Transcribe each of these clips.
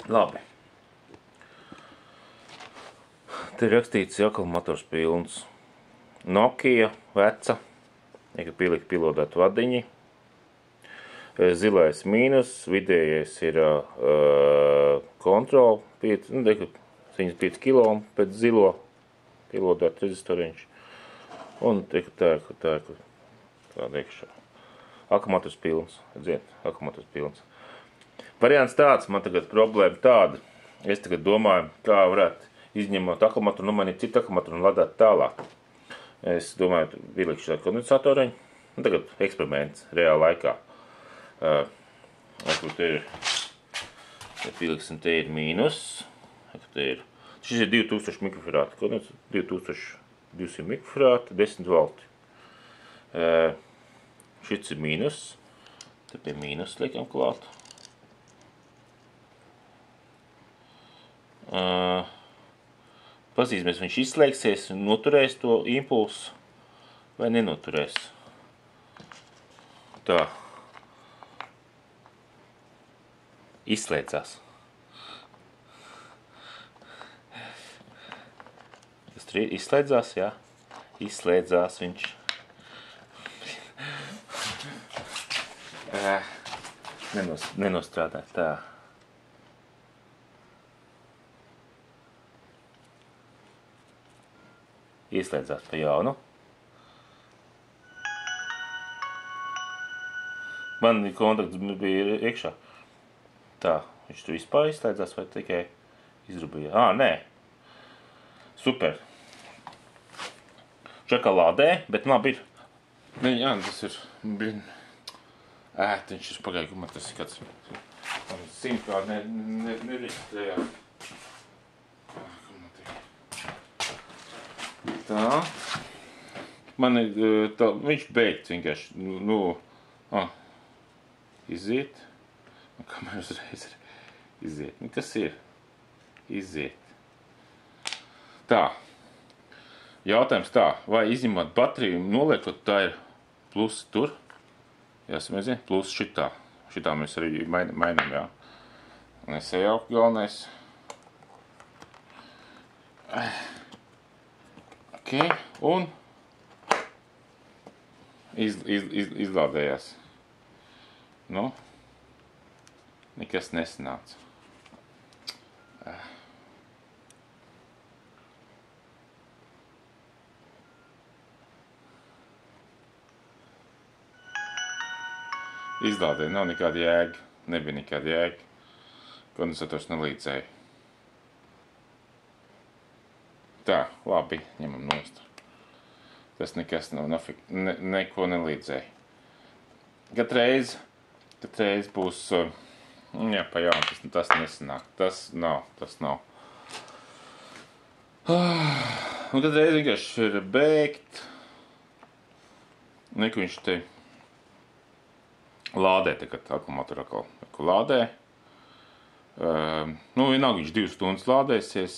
Labi. Te rakstīts akumulātors pilns. Nokia veca, ja pielika pilodēt vadiņi. Zilais mīnus, vidējais ir kontrola, 75 kilo pēc zilo pilodēt rezistoriņš. Un tāda iekšā. Akumulātors pilns, redziet, akumulātors pilns. Variants tāds, man tagad problēma tāda. Es tagad domāju, kā varētu izņemot akumulātoru, nomainīt citu akumulātoru un ladāt tālāk. Es domāju, ielikšu tādu kondensatoriņu. Tagad eksperiments reāla laikā. Te pieliksim, te ir mīnus. Šis ir 2000 mikrofarāti. 2200 mikrofarāti, 10 volti. Šis ir mīnus. Te pie mīnus liekam klāt. Pazīsimies, viņš izslēgsies un noturēs to impulsu vai nenoturēs. Tā. Izslēdzās. Tas izslēdzās, jā. Izslēdzās viņš. Nenostrādā tā. Ieslēdzās pa jaunu. Man kontakts bija iekšā. Tā, viņš tu vispār izslēdzās vai tikai izrubīja? Nē. Super. Šokolādē, bet labi ir. Jā, tas ir. Ētiņš ir pagāju, man tas ir kāds. Simtkārt nereģistrējās. Tā. Man ir tā, viņš beidz vienkārši, iziet. Kamēr uzreiz ir iziet. Kas ir? Iziet. Tā. Jautājums tā, vai izņemot bateriju un noliekot, tā ir plusi tur. Jāsamēzien, plus šitā. Šitā mēs arī mainām, jā. Nesajaukt galvenais. Ok, un izlādējās. Nu, nekas nesanāca. Izlādēja, nav nekāda jēga, nebija nekāda jēga. Kondensators nelīdzēja. Tā, labi, ņemam nost. Tas nekas nav, neko nelīdzēja. Katreiz būs, jā, pa jaunu, tas nesanāk. Tas nav. Un katreiz vienkārši ir beigt. Neko viņš te lādē, tagad akumulātoru atkal lādē. Vienalga viņš 2 stundas lādēsies.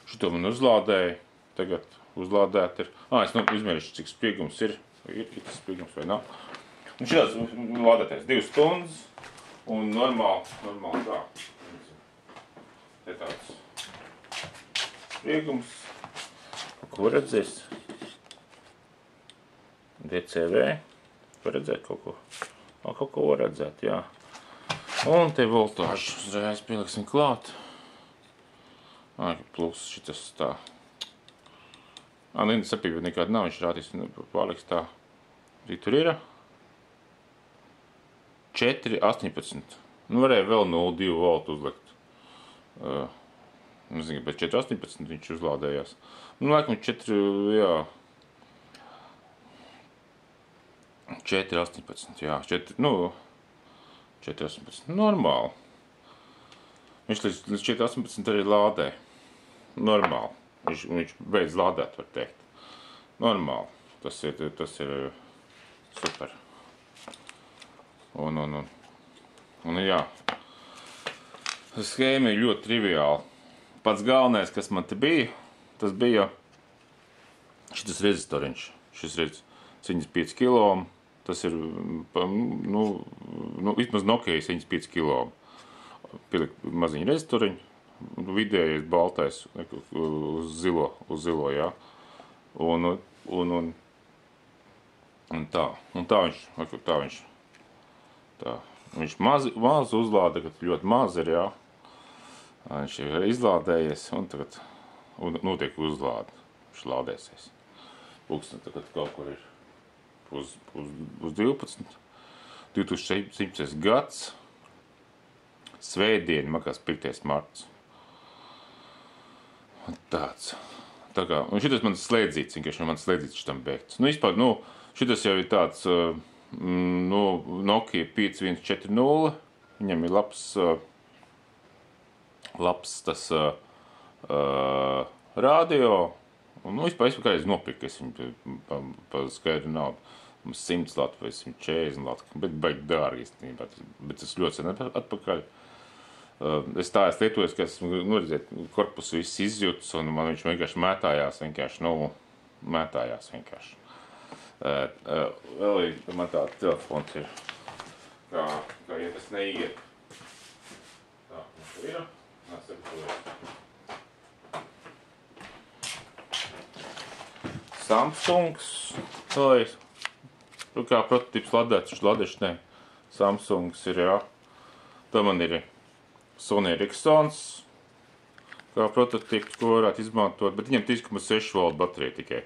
Šito man uzlādēja, tagad uzlādēt ir. Es izmērīšu, cik spriegums ir. Ir tas spriegums vai nav. Un šitās lādēties 2 stundas un normāli tā. Te tāds spriegums. Ko redzēs? DCV. Var redzēt kaut ko? Kaut ko var redzēt, jā. Un te voltāžu uzreiz pieliksim klāt. Plus šitas tā. Lindas sapība nekāda nav, viņš rādīs pārliks tā. Arī tur ir 4,18. Varēja vēl 0,2 voltu uzlikt. Nezinu, bet 4,18 viņš uzlādējās. Laikam 4,18, jā. 4,18, normāli. Viņš līdz 4,18 arī lādē. Normāli. Viņš beidz lādēt, var teikt. Normāli. Tas ir super. Un jā. Schēma ir ļoti triviāla. Pats galvenais, kas man te bija, tas bija šitas rezistoriņš. Šis redz 75 kilo. Tas ir, vismaz Nokia 75 kilo. pielikt maziņu rezistoriņu, vidējais baltais uz zilo, jā. Un tā viņš maz uzlāda, kad ļoti maz ir, jā. Viņš ir izlādējies un tagad notiek uzlāde. Viņš lādēsies. Pulkstens tagad kaut kur ir uz 12. 2017. gads. Svētdiena, makās 5. marts. Tāds. Tā kā, un šitas mans slēdzīts, vienkārši mans slēdzīts šitam beigts. Vispār, šitas jau ir tāds, Nokia 5140. Viņam ir labs tas radio. Un, vispār kādreiz nopirku, es viņu pa skaidru naudu. 100 latu vai 140 latu, bet baigi dārgi īstenībā. Bet tas ļoti sen atpakaļ. Es tā esmu lietojis, ka esmu redzēt, korpusu viss izjūtas, un man viņš vienkārši mētājās vienkārši. Vēl man tāds telefons ir, kā ja tas neiet. Tā, mums ir. Samsungs, kā prototips ladēšs, ne. Samsungs ir, jā. Tā man ir Sony Ericssons, kā prototips, ko varētu izmantot, bet viņam 3,6 volt baterija tikai.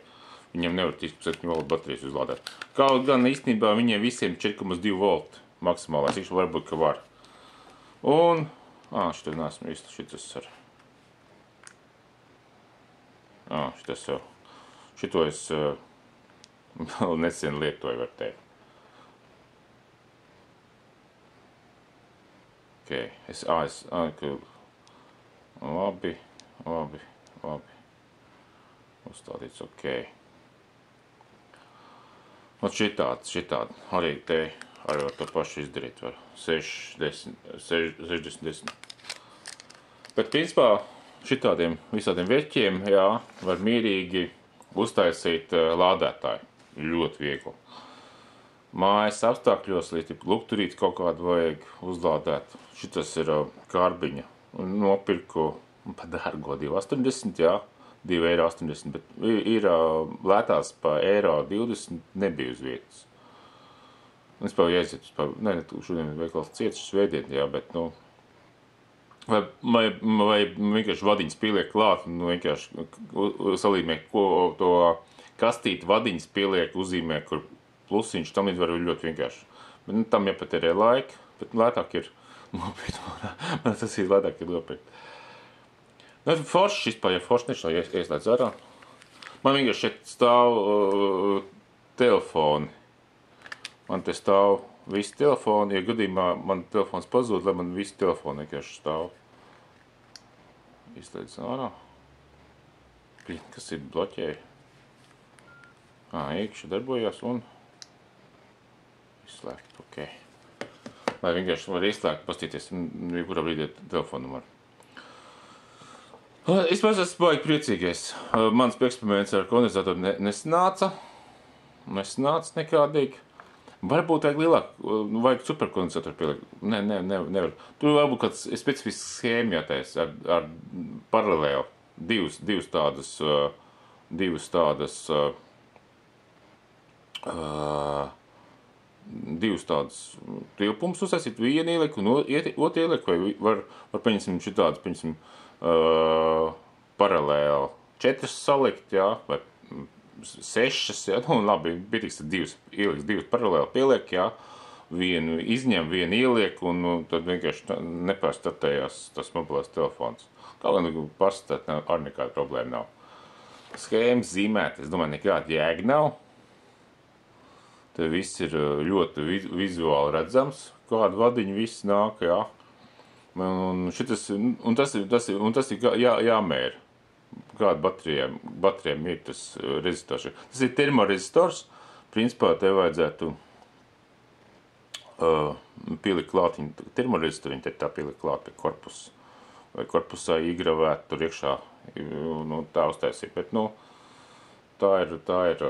Viņam nevar 3,7 volt baterijas uzlādēt. Kaut gan īstenībā viņiem visiem 4,2 volt maksimālais, viņš varbūt, ka var. Un, šitā neesmu īsti, šitas ar. Šitas jau. Šito es vēl nesen lietoju, var teikt. Labi. Uzstādīts, ok. Un šitādi. Arī te ar to pašu izdarīt var. 60. Bet, principā, šitādiem visādiem veķiem, jā, var mierīgi uztaisīt lādētāju. Ļoti viegli. Mājas apstākļos, lai lukturīt kaut kādu vajag uzlādēt. Šitas ir kārbiņa. Nopirku pa dārgo 2,80, jā. 2,80 €, bet ir lētās pa €20 nebija uz vietas. Es jau jāiziet, šodien veikals ciets svētdien, jā, bet, vai vienkārši vadiņas pieliek klāt, vienkārši salīmē, ko to kastīti vadiņas pieliek, uzzīmē, kur plusiņš, tam līdz var ļoti vienkārši. Bet, tam jāpatērē laika, bet lētāk ir nopirkt. Man tas ir lētāk ir nopirkt. Forši vispār, ja forši nešā ieslēdz ārā. Man vienkārši šeit stāv telefoni. Man te stāv visi telefoni, ja gadījumā man telefons pazūd, lai man visi telefoni vienkārši stāv. Izslēdz ārā. Kas ir bloķēja? Iekšā darbojās un izslēgt, ok. Lai vienkārši var izslēgt, pastīties, kurā brīdī telefonu var. Es esmu baigi priecīgais. Mans eksperiments ar kondensatoru nesanāca nekādīgi. Varbūt vajag lielāk, vajag superkondensatoru pielikt. Nevar. Tur varbūt kāds specifisks schēma jātais ar paralēli. Divas tādas tilpumus uztaisīt, vienu ieliku un otru ieliku, vai var paņemsim šitādas, paralēli 4 salikt, jā, vai 6, jā, labi, bietiks tad divas paralēli pieliek, jā, vienu izņem, vienu ieliek, un tad vienkārši nepārstartējās tas mobilais telefons. Kā gan pārstartēt, ar nekāda problēma nav. Schēmas zīmēt, es domāju, nekāda jēga nav. Te viss ir ļoti vizuāli redzams, kādu vadiņu viss nāk, jā. Un tas ir jāmēra, kāda baterijām ir tas rezistors. Tas ir termorezistors, principā te vajadzētu pielikt klāt termorezistoru, viņi te tā pielikt klāt pie korpusa. Vai korpusā iegravēt tur iekšā, tā uztaisīt, bet, tā ir.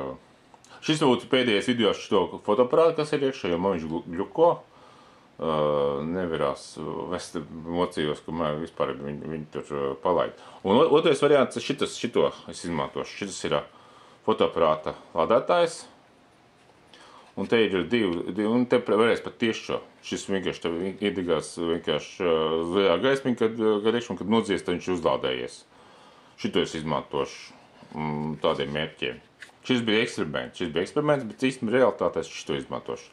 Šis būtu pēdējais video ar šo fotoaparātu, kas ir iekšā, jo man viņš gļuko. nevarās vest mocījos, kamēr vispār viņi tur palaid. Un otrais variants ir šito es izmantošu. Šitas ir fotoaparāta lādētājs. Un te ir divi, un te varēs pat tieši šo. Šis vienkārši tev iedegās vienkārši zaļā gaismiņa, kad nodzies, tad viņš uzlādējies. Šito es izmantošu tādiem mērķiem. Šis bija eksperiments, bet īstenībā realitātē es šito izmantošu.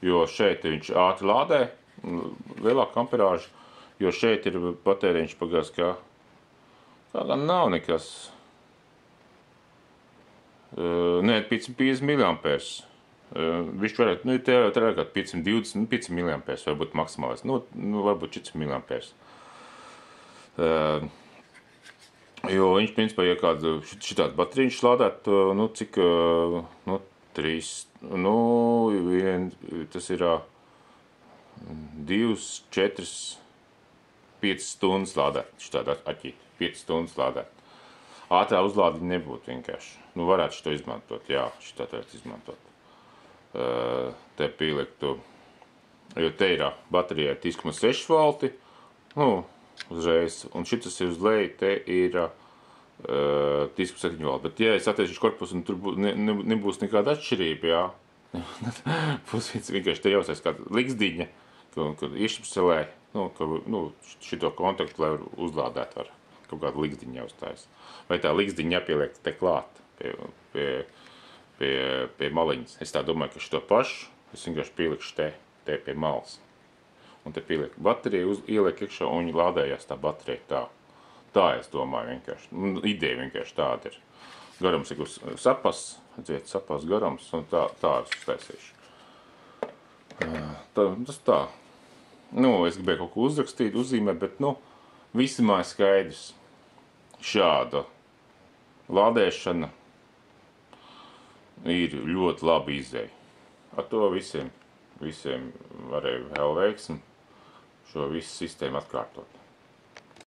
Jo šeit viņš ātri lādē, lielāka amperāža, jo šeit ir patēriņš pagās, kā gan nav nekas. Nē, 550 mAh. Viņš varētu, tērēt kā 520, 5 mAh, varbūt maksimālais, varbūt 4 mAh. Jo viņš, principā, ja kādu šitādu baterīņš lādēt, cik, 3, tas ir 2, 4, 5 stundas lādēt, šitādu aķīt, 5 stundas lādēt. Ātrā uzlādiņa nebūtu vienkārši. Varētu šito izmantot, jā, šitā varētu izmantot. Te pieliktu, jo te ir baterijai 3,6 volti, uzreiz, un šitas ir uz leju, te ir 3,7 volti. Bet, ja es attiecīšu korpusu, un tur nebūs nekāda atšķirība, jā, būs vienkārši te jāuztais kāda liksdiņa, kad iešapselē, šito kontaktu, lai uzlādēt var kaut kādu liksdiņu jāuztais. Vai tā liksdiņa jāpieliek te klāt pie maliņas. Es tā domāju, ka šito pašu es vienkārši pielikšu te pie malas. Un te pieliek bateriju, ieliek iekšā un viņi lādējās tā baterija tā. Tā es domāju vienkārši. Ideja vienkārši tāda ir. Garums ir sapas, redziet, sapas garums, un tā es uztaisīšu. Tas tā. Es gribēju kaut ko uzrakstīt, uzzīmēt, bet, visumā ir skaidrs. Šāda lādēšana ir ļoti labi izēja. Ar to visiem varēja vēl veiksmi šo visu sistēmu atkārtot.